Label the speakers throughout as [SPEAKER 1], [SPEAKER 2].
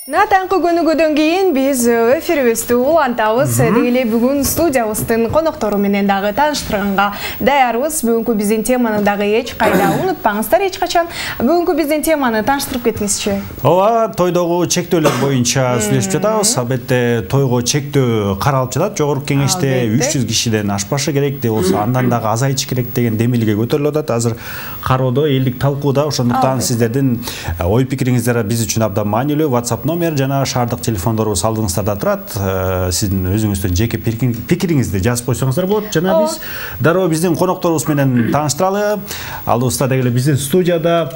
[SPEAKER 1] Таңкы күнүгөдөн кийин биз эфирибизди улантабыз. Дегеле бүгүн студиябыздын коноктору менен дагы тааныштырганга даярбыз. Бүгүнкү биздин теманы дагы эч кайда унутпаңыздар эч качан. Бүгүнкү биздин теманы тааныштырып кетиңизчи.
[SPEAKER 2] Ооба, тойдогу чектөөлөр боюнча сүйлөшүп жатабыз. Албетте тойго чектөө каралып жатат. Жогорку кеңеште 300 кишиден ашпашы керек деп болсо, андан дагы азайчы керек деген демилге көтөрүлүп атат. Азыр кароодо, элдик талкууда. Ошондуктан сиздердин ой пикириңиздер биз үчүн абдан маанилүү. WhatsApp номер жана шаардык телефондорубуз алдыңыздарда турат. Сиздин өзүңүздүн жеке пикириңизди жазып койсоңуздар болот. Жана биз дароо биздин конокторубуз менен тааныштыралы. Алдыбызда дегеле биздин студияда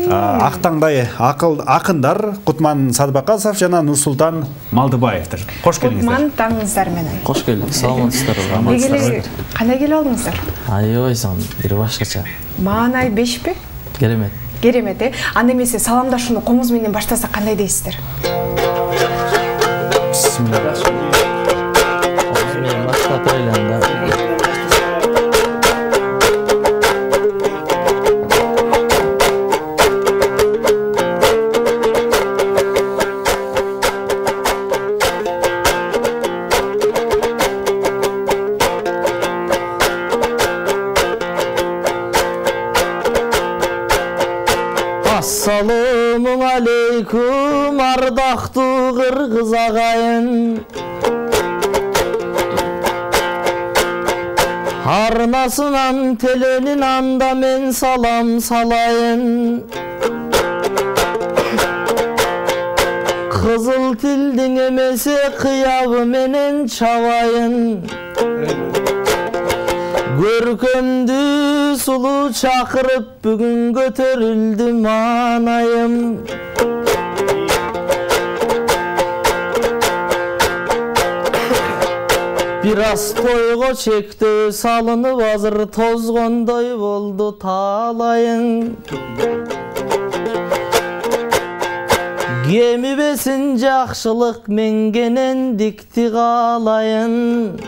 [SPEAKER 2] ак таңдай акындар Кутман Садыбакасов жана Нурсултан Малдыбаевдер. Кош келиңиздер.
[SPEAKER 1] Кутман таңыңыздар менен.
[SPEAKER 3] Кош келдик. Саламатсыздарбы?
[SPEAKER 1] Дегеле кандай келип алдыңыздар?
[SPEAKER 3] Аябайсың, бир башкача.
[SPEAKER 1] Маанай 5пи?
[SPEAKER 3] Керемет.
[SPEAKER 1] Керемет, Анда эмесе саламдашууну комуз менен баштасак кандай дейсиздер?
[SPEAKER 3] Бисмилла. Комуз менен баштап элем да. Assalamu aleykum ardактуу кыргыз агайын. Арнасынан теленин анда мен салам салайын. Кызыл тилдин эмесе кыябы менен чабайын. Көркөмдү сулуу чакырып бүгүн көтөрүлдү маанайым. Бир аз тойго чектөө салынып азыр тозгондой болду таалайын. Кемибесин жакшылык менгенен дикти каалайын.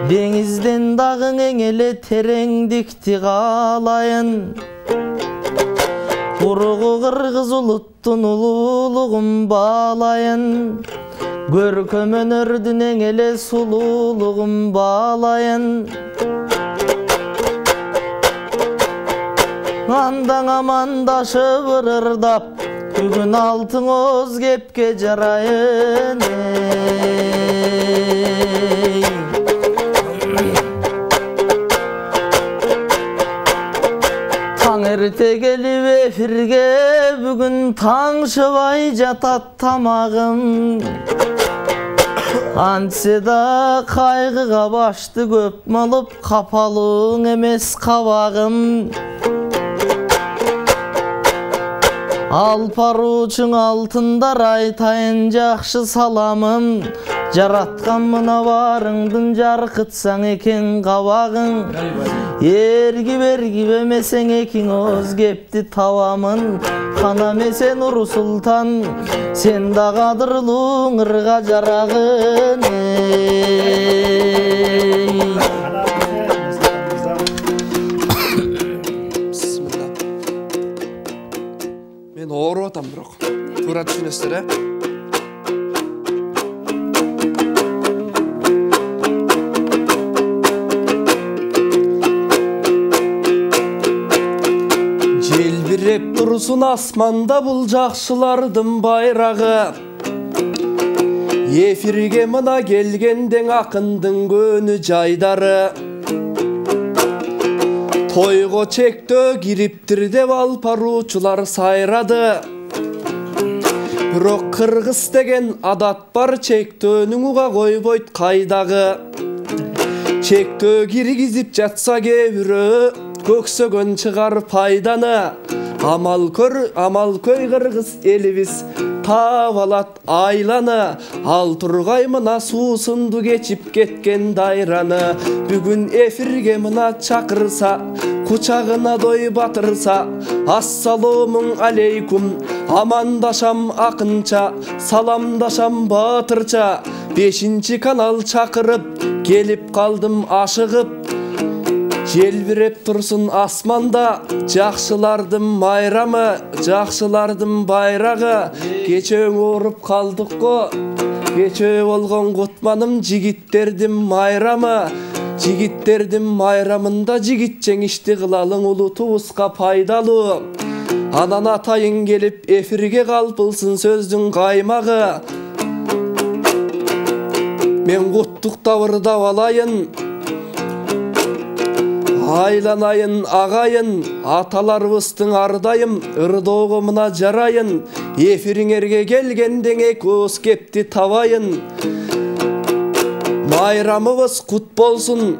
[SPEAKER 3] Деңизден дагы эң эле тереңдикти каалайын. Ургу кыргыз улуттун улуулугун баалайын. Көркөм өнөрдүн эң эле сулуулугун баалайын. Андан амандашып ырырдап, бүгүн алтыңоз кепке жарайын. Эрте келип эфирге бүгүн таңшыбай жатат тамагым. Антсе да кайгыга башты көп малып, капалың эмес кабагым. Алпаруучуң алтындар айтайын жакшы саламым. Жараткан мына барыңдын жаркытсаң экен кабагың. Эрги берги бемесең экиңоз кепти табамын. Кана эмесе Нурсултан, сен да кадырлуу ырга жарагын.
[SPEAKER 4] Мен ооруп атам бирок. Туура түшүнөсүздөр, Желбиреп турсун асманда бул жакшылардын байрагы. Эфирге мына келгенден акындын көнү жайдары. Тойго чектөө кириптир деп алпаруучулар сайрады. Бирок кыргыз деген адат бар, чектөөнүң уга койбойт кайдагы. Чектөө киргизип жатса кээ көксөгөн чыгар пайданы. Амал көй кыргыз элибиз таап алат айланы. Ал тургай мына суусунду кечип кеткен дайраны. Бүгүн эфирге мына чакырса, кучагына дой батырса, ассалому алейкум, амандашам акынча, саламдашам батырча. 5-канал чакырып келип калдым ашыгып. желбиреп турсун асманда, жакшылардын майрамы, жакшылардын байрагы. Кече ооруп калдык го, кече болгон кутманым, жигиттердин майрамы. Жигиттердин майрамында жигит жеңишти кылалың улутубузга пайдалуу. Анан атайын келип эфирге калпылсын сөздүн каймагы. Мен куттуктап ырдап алайын, айланайын агайын, аталарыбыздын ардайым, ырдоого мына жарайын. Эфириңерге келгенден экөөбүз кепти табайын. Майрамыбыз кут болсун,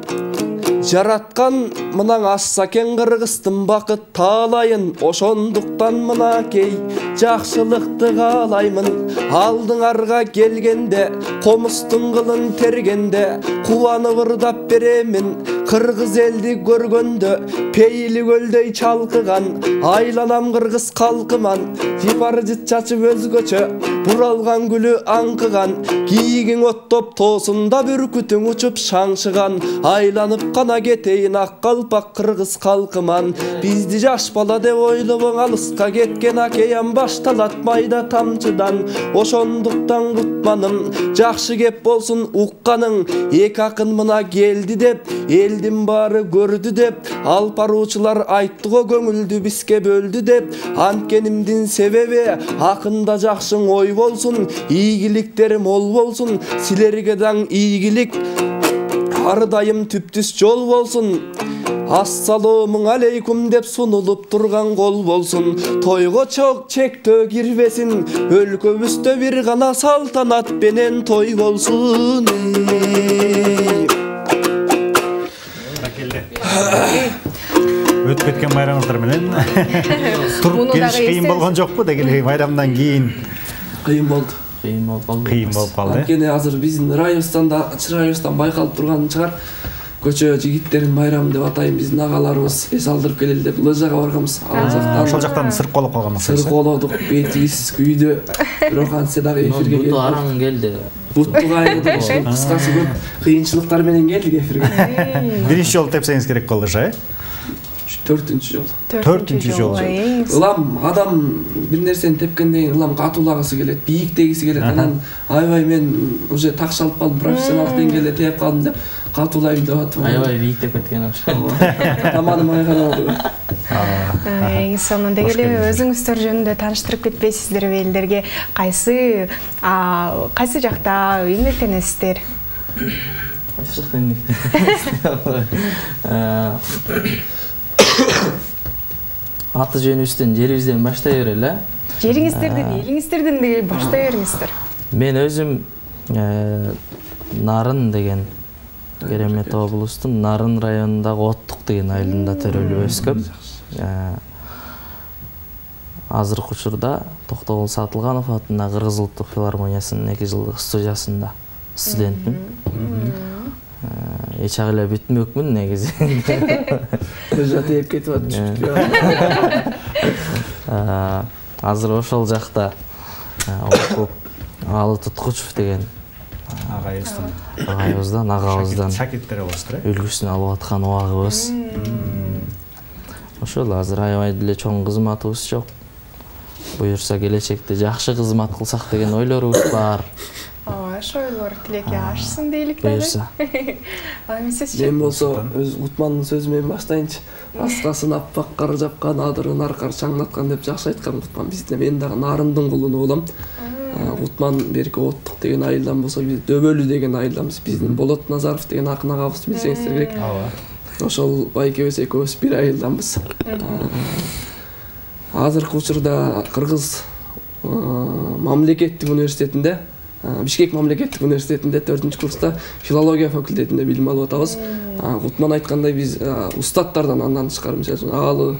[SPEAKER 4] жараткан мынан асса кен Кыргыздын бакыт таалайын. Ошондуктан мынакей жакшылыкты каалаймын. Алдыңарга келгенде, комустун кылын тергенде, кубанып ырдап беремин. Кыргыз элди көргөндө, пейили көлдөй чалкыган, айланам кыргыз калкыман. Жипар жыт чачып өзгөчө, буралган гүлү аңкыган. Кийигиң оттоп тоосунда бүркүтүң учуп шаңшыган. Айланып кана кетейин ак калпак кыргыз калкыман. Бизди жаш бала деп ойлобоң, алыска кеткен океан башталат майда тамчыдан. Ошондуктан кутманым, жакшы кеп болсун укканың. Эки акын мына келди деп, элдин баары көрдү деп, алып баруучулар айтты го көңүлдү бизге бөлдү деп. Анткенимдин себеби акында жакшың ой болсун, ийгиликтер мол болсун. Силерге даң ийгилик, ар дайым түптүс жол болсун. Ассалому алейкум деп сунулуп турган кол болсун. Тойго чок чектөө кирбесин, өлкөбүздө бир гана салтанат менен той болсун.
[SPEAKER 2] Өтүп кеткен майрамыңыздар менен туруп келиш кыйын болгон жокпу деги эле майрамдан кийин?
[SPEAKER 4] Кыйын болду.
[SPEAKER 3] Кыйын
[SPEAKER 2] болуп калды.
[SPEAKER 4] Анткени азыр биздин районубуздан да, чырайыбыздан байкалып турган чыгар. Көчө жигиттердин майрамы деп атайын, биздин агаларыбыз эс алдырып келели деп лыжага барганбыз.
[SPEAKER 2] Ошол жактан сырколоп калганбыз.
[SPEAKER 4] Сырколодук, бетибиз күйдү. Бирок антсе дагы эфирге
[SPEAKER 3] келди. Араң келди.
[SPEAKER 4] Бутту кайгыдык, кыскасы көп кыйынчылыктар менен келдик эфирге.
[SPEAKER 2] Биринчи жолу тепсеңиз керек болду,
[SPEAKER 4] Төртүнчү жол.
[SPEAKER 2] Төртүнчү жол.
[SPEAKER 4] Ылам адам бир нерсени тепкенден кийин ылам катуулагысы келет, бийиктегиси келет. Анан айбай мен уже такшалып калдым, профессионалдык деңгээлде теп калдым деп катуулайм деп атам.
[SPEAKER 3] Айбай бийиктеп кеткен ошо.
[SPEAKER 4] Таманым айгана
[SPEAKER 1] болду. Сонун деги эле өзүңүздөр жөнүндө тааныштырып кетпейсиздерби элдерге? Кайсы жакта эмгектенесиздер?
[SPEAKER 3] Кайсы жакта эмгектенесиздер? Аты жөнүбүздөн, жерибизден баштай берели.
[SPEAKER 1] Жериңиздерден, элиңиздерден баштай бериңиздер.
[SPEAKER 3] Мен өзүм Нарын деген Керемет облустун Нарын районундагы Оттук деген айылында төрөлүп өскөм. Азыркы учурда Токтогул Сатылганов атындагы Кыргыз Улуттук филармониясынын 2 жылдык студиясында студентмин. Эч ак эле бүтмөкмүн негизи.
[SPEAKER 4] Теп кетип атат.
[SPEAKER 3] Азыр ошол жакта окуп Алы Туткучев деген агабыздан
[SPEAKER 2] шакирттер болуптур.
[SPEAKER 3] Үлгүсүн алып аткан убагыбыз. Ошол азыр аябай деле чоң кызматыбыз жок. Буюрса келечекте жакшы кызмат кылсак деген ойлорубуз бар.
[SPEAKER 1] Ошойлор тилекке ашсын дейлик да.
[SPEAKER 3] Буюрса.
[SPEAKER 4] Мен болсо өз Кутмандын сөзү менен баштайынчы. Аскасын аппак кар жапкан, адырын аркар чаңдаткан деп жакшы айткан Кутман. Мен дагы Нарындын кулуну болом. Кутман берки Оттук деген айылдан болсо, биз Дөбөлү деген айылданбыз. Биздин Болот Назаров деген акын агабызды билсеңиздер керек. Ошол байкебиз экөөбүз бир айылданбыз. Азыркы учурда Кыргыз мамлекеттик университетинде, Бишкек мамлекеттик университетинде 4-курста филология факультетинде билим алып атабыз. Кутман айткандай биз устаттардан андан тышкары, мисалы Алы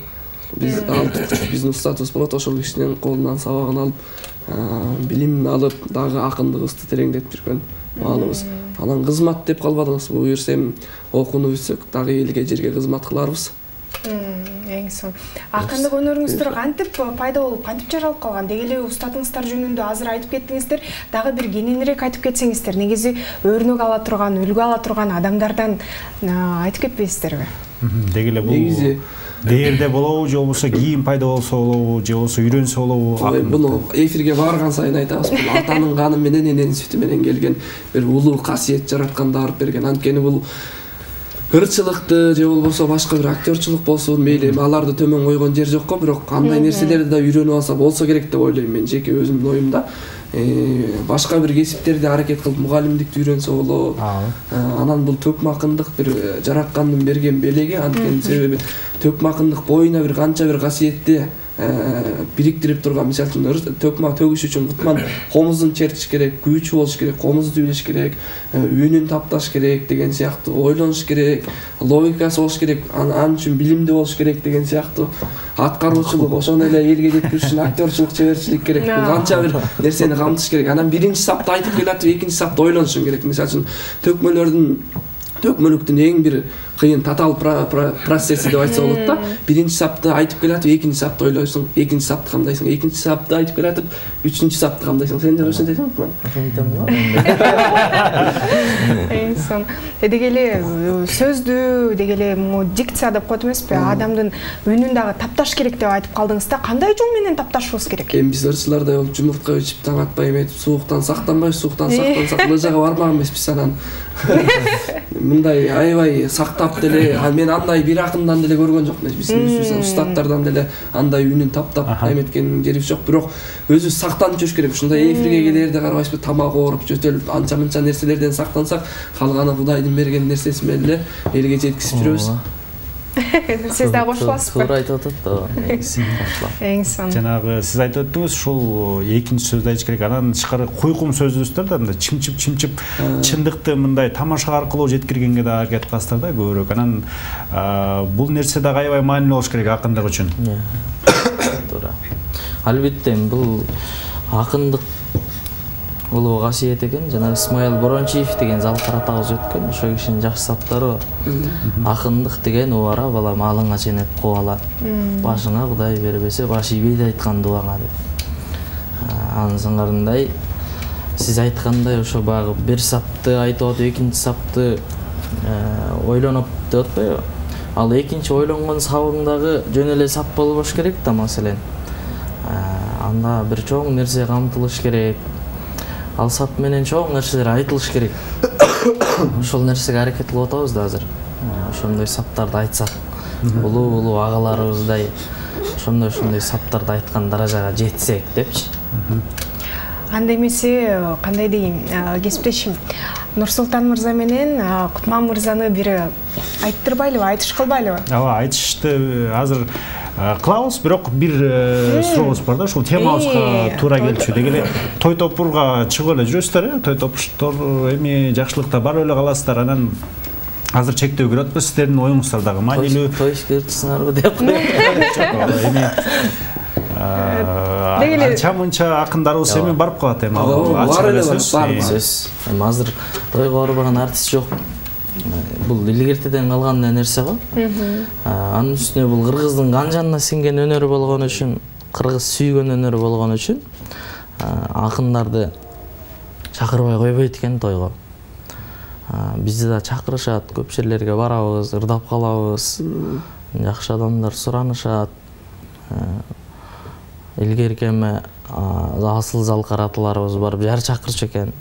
[SPEAKER 4] биздин устатыбыз болот, ошол кишинин колунан сабагын алып, билим алып, дагы акындыгыбызды тереңдетип жүргөн маалыбыз. Анан кызмат деп калбадыңызбы? Буюрсем окууну бүтсөк дагы элге жерге кызмат кыларбыз.
[SPEAKER 1] Эң сонун. Акындык өнөрүңүздөр кантип пайда болуп, кантип жаралып калган? Деги эле устатыңыздар жөнүндө азыр айтып кеттиңиздер. Дагы бир кененирээк айтып кетсеңиздер, негизи өрнөк ала турган, үлгү ала турган адамдардан айтып кетпейсиздерби?
[SPEAKER 2] Деги эле
[SPEAKER 4] негизи
[SPEAKER 2] бул дээрде болобу же болбосо кийин пайда болсо болобу же болбосо үйрөнсө болобу?
[SPEAKER 4] Буну эфирге барган сайын айтабыз, бул атанын каны менен эненин сүтү менен келген бир улуу касиет жараткан дарып берген. Анткени бул ырчылыкты же болбосо башка бир актёрчулук болсун, мейли аларды төмөн койгон жер жок го, бирок кандай нерселерди да үйрөнүп алса болсо керек деп ойлойм мен, жеке өзүмдүн оюмда. Башка бир кесиптерди аракет кылып мугалимдикти үйрөнсө болот. Анан бул төкмакындык бир жараткандын берген белеги, анткени себеби төкмакындык боюна бир канча бир касиетти бириктирип турган. Мисалы үчүн төкмак төгүш үчүн кутман комузун чертиш керек, күүчү болуш керек, комузду билиш керек, үнүн тапташ керек деген сыяктуу, ойлонуш керек, логикасы болуш керек, анын үчүн билимдүү болуш керек деген сыяктуу. Аткаруучулук, ошондой эле элге жеткириш үчүн актёрчулук, чеберчилик керек. Бул канча бир нерсени камтыш керек. Анан биринчи сапта айтып келатып, экинчи сапта ойлонушуң керек. Мисалы үчүн төкмөлүктүн эң бир кыйын татаал процесси деп айтса болот да. Биринчи сапты айтып келатып, экинчи сапты ойлойсуң, экинчи сапты камдайсың, экинчи сапты айтып келатып, үчүнчү сапты камдайсың. Сен же ошентесиңби?
[SPEAKER 1] Эйсон. Деги эле сөздү, деги эле дикция деп коет эмеспи? Адамдын үнүн дагы тапташ керек деп айтып калдыңыз да. Кандай жол менен тапташыбыз керек?
[SPEAKER 4] Эми биз ырчылардай болуп жумуртка ичип таң атпай эметип, сууктан сактанбайбыз, сууктан сактансак лыжага бармаган эмеспиз анан. Мындай аябай сактап деле, мен андай бир акындан деле көргөн жокмун. Биздин өзүбүз устаттардан деле андай үнүн таптап эметкен жерибиз жок. Бирок өзүбүз сактанып жүрүш керек. Ушундай эфирге келерде карабайсызбы, тамак ооруп, жөтөлүп, анча-мынча нерселерден сактансак, калганы Кудайдын берген нерсеси менен эле элге жеткизип жүрөбүз.
[SPEAKER 1] Сиз да кошуласызбы?
[SPEAKER 3] Туура айтып атат да.
[SPEAKER 1] Эйсон.
[SPEAKER 2] Жанагы сиз айтып өттүңүз, ушул экинчи сөздү айтыш керек. Анан тышкары куйкум сөзүбүздөр да мындай чымчып чындыкты мындай тамаша аркылуу жеткиргенге да аракет кыласыздар да көбүрөөк. Анан бул нерсе дагы аябай маанилүү болуш керек акындык үчүн.
[SPEAKER 3] Туура. Албетте бул акындык улуу касиет экен. Жана Исмаил Борончиев деген залкар атабыз өткөн. Ошо кишинин жакшы саптары бар. Акындык деген убара балам алыңа ченеп кубала. Башыңа Кудай бербесе, баш ийбейди айткан дубаңа деп. Анын сыңарындай сиз айткандай ошо багы бир сапты айтып атып, экинчи сапты ойлонуп деп атпайбы? Ал экинчи ойлонгон сабың дагы жөн эле сап болбош керек да, маселен. Анда бир чоң нерсе камтылыш керек. Ал сап менен чоң нерселер айтылыш керек. Ошол нерсеге аракет кылып атабыз да азыр. Ошондой саптарды айтсак, улуу агаларыбыздай ошондой саптарды айткан даражага жетсек депчи.
[SPEAKER 1] Анда эмесе кандай дейм, кесиптешим Нурсултан мырза менен Кутман мырзаны бири айттырбайлыбы, айтыш кылбайлыбы?
[SPEAKER 2] Ооба, айтышты азыр кылабыз, бирок бир сурообуз бар да, ушул темабызга туура келчү. Деги эле той топурга чыгып эле жүрөсүздөр, той топуштор эми жакшылыкта барып эле каласыздар. Анан азыр чектөө көрүп атпыз, сиздердин оюңуздар дагы маанилүү.
[SPEAKER 3] Той ишкерчисинарбы деп коём.
[SPEAKER 2] Эми анча-мынча акындарыбыз эми барып калат эми.
[SPEAKER 4] Бар эле бар.
[SPEAKER 3] Эми азыр тойго барбаган артист жок. Бул илгертеден калган нерсе го. Анын үстүнө бул кыргыздын кан жанына сиңген өнөрү болгон үчүн, кыргыз сүйгөн өнөрү болгон үчүн акындарды чакырбай койбойт экен тойго. Бизди да чакырышат, көп жерлерге барабыз, ырдап калабыз. Жакшы адамдар суранышат. Илгерки эме асыл залкар аталарыбыз барып жар чакырчу экен.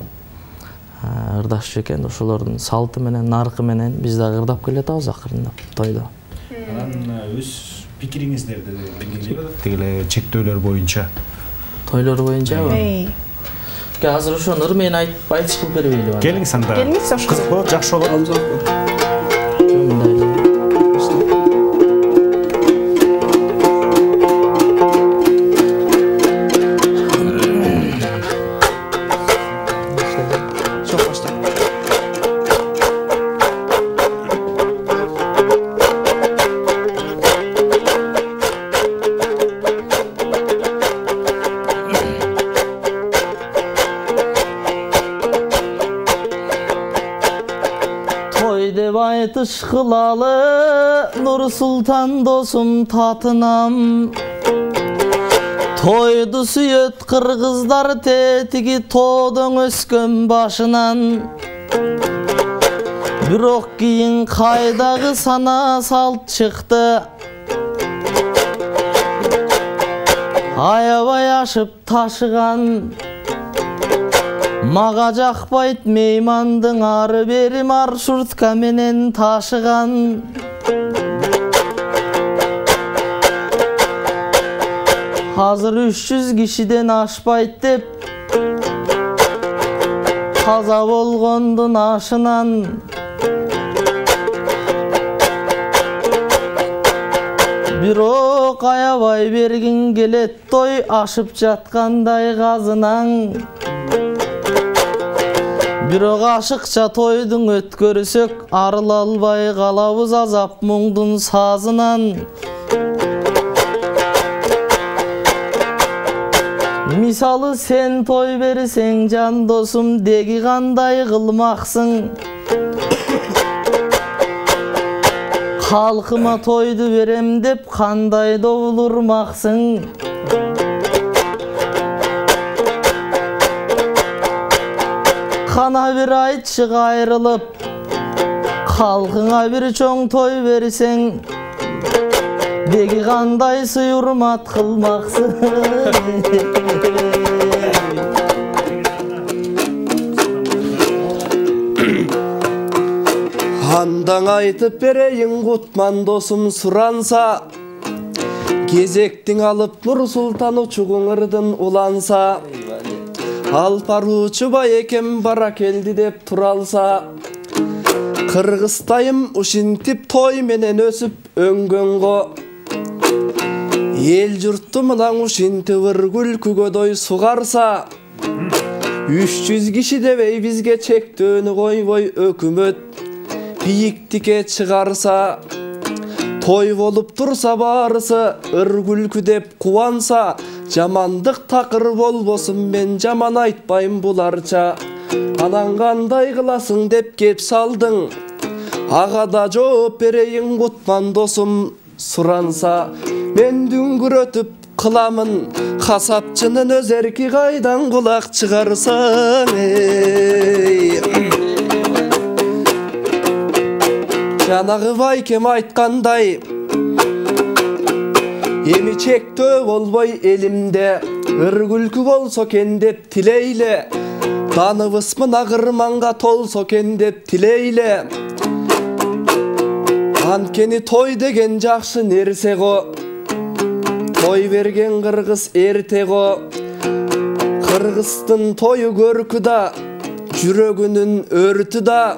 [SPEAKER 3] Ырдашчу экен, ошолордун салты менен, наркы менен биз дагы ырдап келатабыз акырындап тойдо.
[SPEAKER 2] Анан өз пикириңиздерди белгилейби, деги эле чектөөлөр боюнча.
[SPEAKER 3] Тойлор боюнчабы? Азыр ошону ыр менен айтыш кылып бербейлиби?
[SPEAKER 2] Келиңиз анда.
[SPEAKER 1] Келиңиз,
[SPEAKER 2] кызык болот, жакшы болот.
[SPEAKER 3] Айтыш кылалы Нурсултан досум татынам. Тойду сүйөт кыргыздар тетиги тоодон өскөн башынан. бирок кийин кайдагы сана салт чыкты. Аябай ашып ташыган, мага жакпайт меймандың ары бери маршрутка менен ташыган. Азыр 300 кишиден ашпайт деп каза болгондун ашынан. Бирок аябай бергин келет той ашып жаткандай казынан. Бирок ашыкча тойдун өткөрсөк арыла албай калабыз азап муңдун сазынан. Мисалы сен той берсең жан досум деги кандай кылмаксың? Халкыма тойду берем деп кандай довулурмаксың? Кана бир айтчы кайрылып, халкыңа бир чоң той берсең, деги кандай сый урмат кылмаксың?
[SPEAKER 4] Андан айтып берейин кутман досум суранса, кезектиң алып Нур Султан учугуңырдын уланса, алпаруучу байекем бара келди деп туралса, кыргызтайым ушинтип той менен өсүп өңгөнгө, эл журтту мынан ушинтип ыр күлкүгөдөй сугарса, 300 киши дебей бизге чектөөнү койбой өкмөт бийиктикке чыгарса, той болуп турса баарысы ыр күлкү деп кубанса, жамандык такыр болбосун мен жаман айтпайм буларча. Анан кандай кыласың деп кеп салдың, ага да жооп берейин кутман досум суранса. Мен дүңгүрөтүп кыламын касапчынын өз эрки, кайдан кулак чыгарсаң жанагы байкем айткандай, эми чектөө болбой элимде, ыр күлкү болсо экен деп тилейле, даныбыз мына кырманга толсо экен деп тилейле. Анткени той деген жакшы нерсе го, той берген кыргыз эрте го. Кыргыздын тою көркү да, жүрөгүнүн өртү да,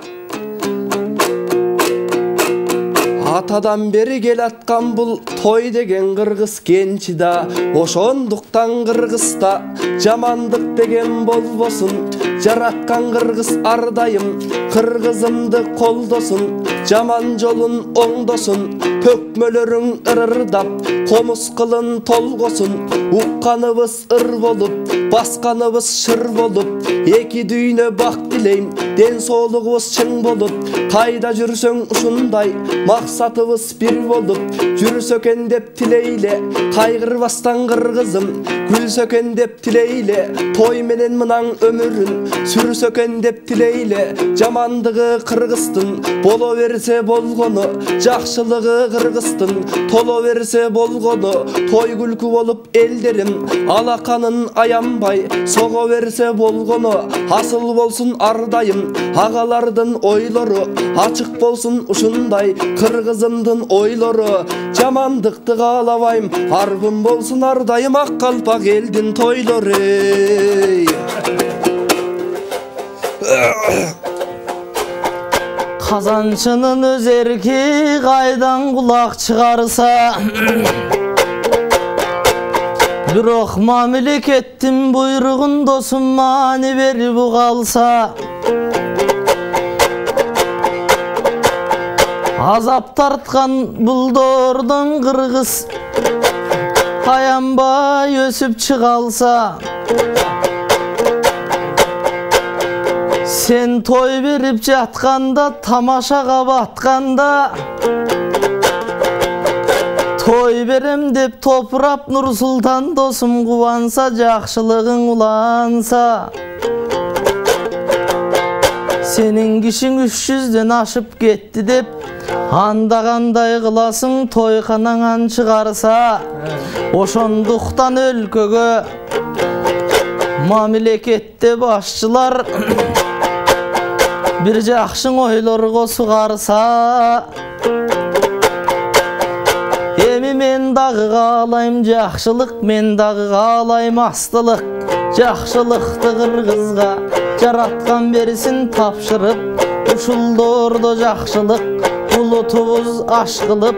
[SPEAKER 4] атадан бери келаткан бул той деген кыргыз кенчи да. Ошондуктан кыргызда жамандык деген болбосун, жараткан кыргыз ар дайым кыргызымды колдосун, жаман жолун оңдосун, төкмөлөрүң ырырдап, комуз кылын толгосун. Укканыбыз ыр болуп, басканыбыз шыр болуп, эки дүйнө бак тилейм, ден соолугубуз чың болуп. Кайда жүрсөң ушундай максатыбыз бир болуп, жүрсө экен деп тилейле, кайгырбастан кыргызым күлсө экен деп тилейле. Той менен мынан өмүрүн сүрсө экен деп тилейле. Жамандыгы кыргыздын боло берсе болгону, жакшылыгы кыргыздын толо берсе болгону. Той күлкү болуп элдерим алаканын аянбай сого берсе болгону. Асыл болсун ар дайым агалардын ойлору, ачык болсун ушундай кыргызымдын ойлору. Жамандыкты каалабайм, арбын болсун ар дайым ак калпак элдин тойлору.
[SPEAKER 3] Казанчынын өз эрки кайдан кулак чыгарса, бирок мамлекеттин буйругун досум маани берип калса, азап тарткан булдордон кыргыз аянбай өсүп чыга алса, сен той берип жатканда, тамашага батканда, той берем деп топурап Нур Султан досум кубанса, жакшылыгың уланса, Сенин кишиң 300ден ашып кетти деп, анда кандай кыласың тойканаңан чыгарса, ошондуктан өлкөгө мамлекетте башчылар бир жакшы ойлорго сугарса, эми мен дагы каалайм жакшылык, мен дагы каалайм астылык. Жакшылыкты кыргызга жараткан берсин тапшырып, ушулдордо жакшылык улутубуз аш кылып.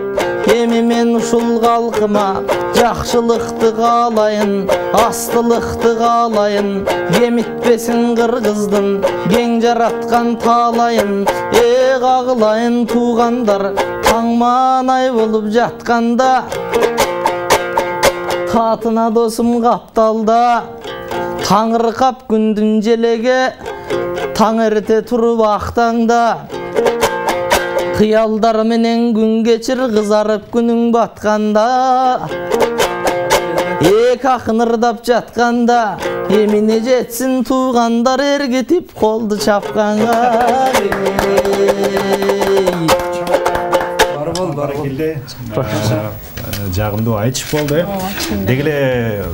[SPEAKER 3] Эми мен ушул калкыма жакшылыкты каалайын, астылыкты каалайын. Кемитпесин кыргыздын кең жараткан таалайын. Кагылайын туугандар таңманай болуп жатканда, катына досум капталда. Таңыркап күндүн желеге таң эрте туруп актаңда, кыялдар менен күн кечир кызарып күнүң батканда. Эки акын ырдап жатканда, эмине жетсин туугандар эргитип колду чапканга.
[SPEAKER 2] Баракелде. Жагымдуу айтыш болду. Деги эле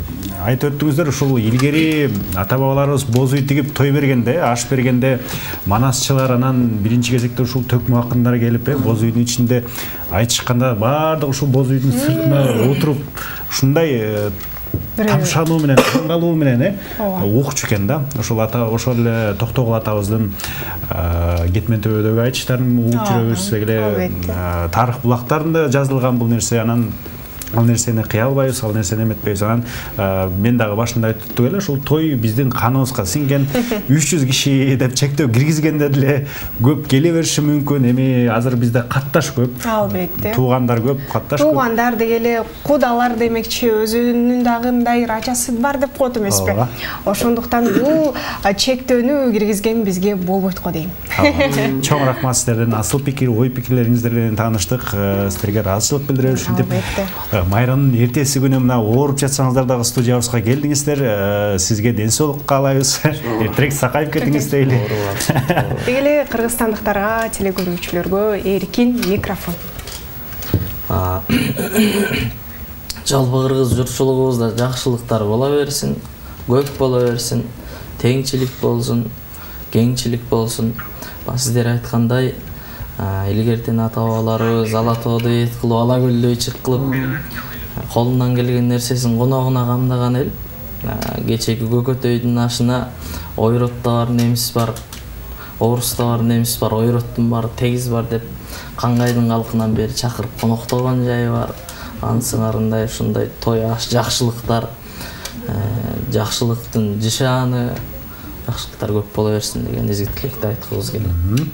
[SPEAKER 2] айтып өттүңүздөр, ушул илгери ата бабаларыбыз боз үй тигип той бергенде, аш бергенде манасчылар анан биринчи кезекте ушул төкмө акындар келип, боз үйдүн ичинде айтышканда баардык ушул боз үйдүн сыртына отуруп ушундай тамшануу менен, таңгалуу менен окучу экен да. Ошол эле Токтогул атабыздын кетмен төбөдөгү айтыштарын угуп жүрөбүз. Эле тарых булактарында жазылган бул нерсе. Анан ал нерсени кыя албайбыз, ал нерсени эметпейбиз. Анан мен дагы башында айттым эле, ушул той биздин каныбызга сиңген. 300 киши деп чектөө киргизгенде деле көп келе бериши мүмкүн. Эми азыр бизде катташ көп.
[SPEAKER 1] Албетте.
[SPEAKER 2] Туугандар көп, катташ көп.
[SPEAKER 1] Туугандар дегеле кудалар демекчи, өзүнүн дагы мындай рачасы бар деп коет эмеспи? Ошондуктан бул чектөөнү киргизген бизге болбойт го дейм.
[SPEAKER 2] Чоң рахмат сиздерден, асыл пикир, ой пикирлериңиздер менен тааныштык. Сиздерге ыраазычылык билдиребиз. Майранын эртеси күнү мына ооруп жатсаңыздар дагы студиябызга келдиңиздер. Сизге ден соолук каалайбыз. Эртерээк сакайып кетиңиз дейли.
[SPEAKER 1] Деги эле кыргызстандыктарга, телекөрүүчүлөргө эркин микрофон.
[SPEAKER 3] Жалпы кыргыз журтчулугубузда жакшылыктар бола берсин, көп бола берсин, теңчилик болсун, кеңчилик болсун. Сиздер айткандай, илгертен ата бабаларыбыз ала тоодо эт кылып, ала көлдө ичик кылып, колунан келген нерсесин коногуна камдаган эл. Кечеги көкөтөйдүн ашына ойротто бар немис бар, орусто бар немис бар, ойроттун бар, тегиз бар деп каңгайдын калкынан бери чакырып коноктогон жайы бар. Ансыңарындай ушундай той аш жакшылыктар, жакшылыктын жышааны, жакшылыктар көп бола берсин деген изги тилекти айткыбыз келет.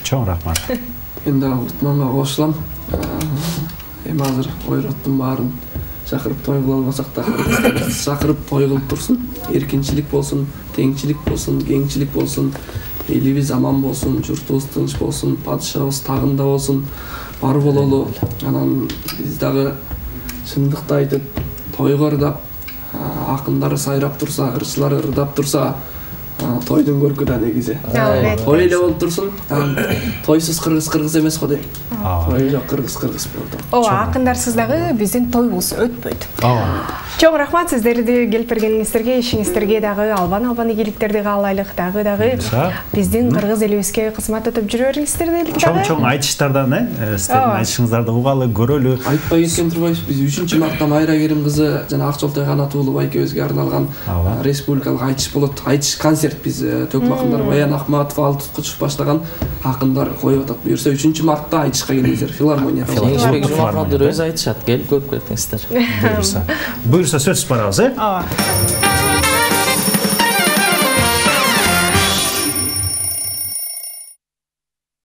[SPEAKER 2] Чоң рахмат.
[SPEAKER 4] Мен дагы Утманга кошулам. Эми азыр ойроттун баарын чакырып той кыла албасак да, чакырып той кылып турсун. Эркинчилик болсун, теңчилик болсун, кеңчилик болсун, элибиз аман болсун, журтубуз тынч болсун, падышабыз тагында болсун, бар бололу. Анан биз дагы чындыкты айтып, тойго ырдап, акындар сайрап турса, ырчылар ырдап турса, тойдун көркү да негизи. Той эле болуп турсун. Тойсуз кыргыз эмес го дейм. Той жок кыргыз болду.
[SPEAKER 1] Акындарсыз дагы биздин тойубуз өтпөйт. Чоң рахмат сиздерди келип бергениңиздерге, ишиңиздерге дагы албан ийгиликтерди каалайлык, дагы биздин кыргыз элибизге кызмат өтүп жүрө бериңиздер дейли дагы.
[SPEAKER 2] Чоң айтыштардан, сиздердин айтышыңыздарды угалы, көрөлү.
[SPEAKER 4] Айтпай кеткен турбайбыз. Биз 3-мартта Майра Керим кызы жана Акчолтой Канатуулова экөөбүзгө арналган республикалык айтыш болот. Айтыш концерт биз Төкмө акындар Баян Акматов, Алтын Кучув баштаган акындар коюп атат. Буюрса 3-мартта айтышка келиңиздер. Филармония.
[SPEAKER 3] Кеңешбек Жумахматов өзү айтышат. Келип көрүп кетиңиздер.
[SPEAKER 2] Буюрса сөз барабыз,